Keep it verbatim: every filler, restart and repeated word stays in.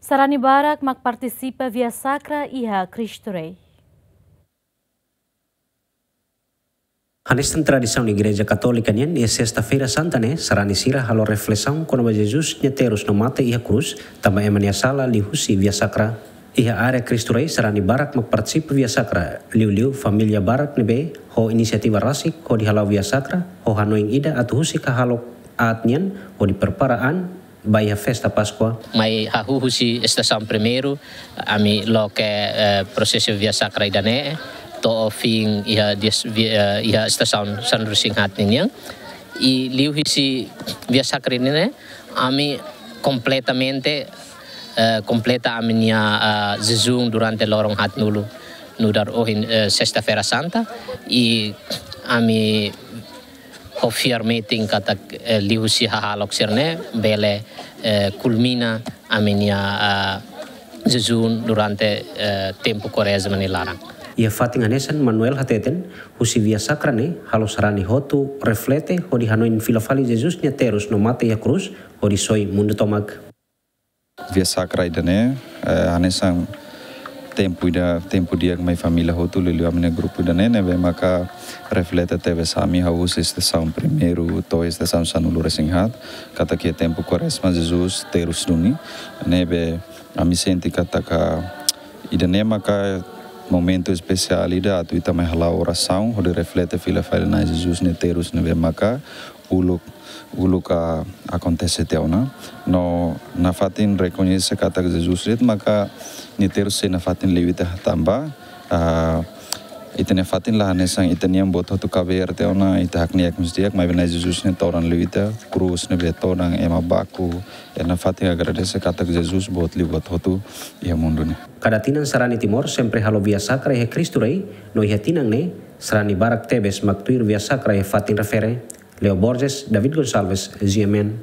Sarani barak mak partisipa Via Sacra iha Cristo Rei. Hanesan tradisaun Igreja Katólika nian, iha Sesta-feira Santa ne'e, sarani sira halo reflesaun kona-ba Jesus nia terus no mate iha krús, tanba ema nia sala liuhusi Via Sacra. Iha área Cristo Rei, sarani barak mak partisipa Via Sacra, liuliu família barak ne'ebé ho inisiativa rasik hodi hala'o Via Sacra, ho hanoin ida atu husik hahalok aat nian hodi prepara an ba iha festa Páskua. Mai hahú husi estasaun primeiru, ami loke, eh, prosesu Via Sacra ida-ne'e, to'o fin iha dias-, vi-, eh, iha estasaun sanulu-resin-haat ninian. I liuhusi Via Sacra ne'e, ami kompletamente, eh, kompleta ami-nia, ah, jejún durante loron haatnulu, nu'udar ohin, eh, Sesta-feira Santa, i ami ho fiar metin katak, eh, liuhusi hahalok sira-ne'e bele, eh, kulmina ami-nia, ah, jejún durante, eh, tempu Kuarezma nia laran. Iha fatin hanesan, Manuel hateten, husi Via Sacra ne'e halo sarani hotu reflete hodi hanoin fila fali Jesus nia terus no mate iha krús hodi soi mundu tomak. Via Sacra ida-ne'e, eh, hanesan tempu ida, tempu di'ak mai família hotu, liuliu ami-nia grupu ida-ne'e, ne'ebé maka reflete tebes ami hahú husi estasaun primeiru to'o estasaun sanulu-resin-haat, katak iha tempu Kuarezma Jesus terus duni, ne'ebé ami sente katak ida-ne'e maka momentu espesiál ida atu ita mai hala'o orasaun, hodi reflete fila fali Na'i Jesus nia terus ne'ebé maka uluk, uluk, ah, akontese tiha ona. No nafatin rekoñese katak Jesus de'it maka nia terus sei nafatin liu ita tanba, ah, ita-nia fatin la hanesan ita-nian buat hotu kabeer tiha ona, ita hakne'ak mós di'ak, maibé Na'i Jesus nia todan liu ita, krús ne'ebé todan, ema baku, i nafatin agradese katak Jesus boot liu buat hotu iha mundu ne'e. Kada tinan sarani Timor sempre halo Via Sacra iha Cristo Rei, no iha tinan ne'e, sarani barak tebes mak tuir Via Sacra iha fatin refere. Leo Borges, David Gonçalves, G M N.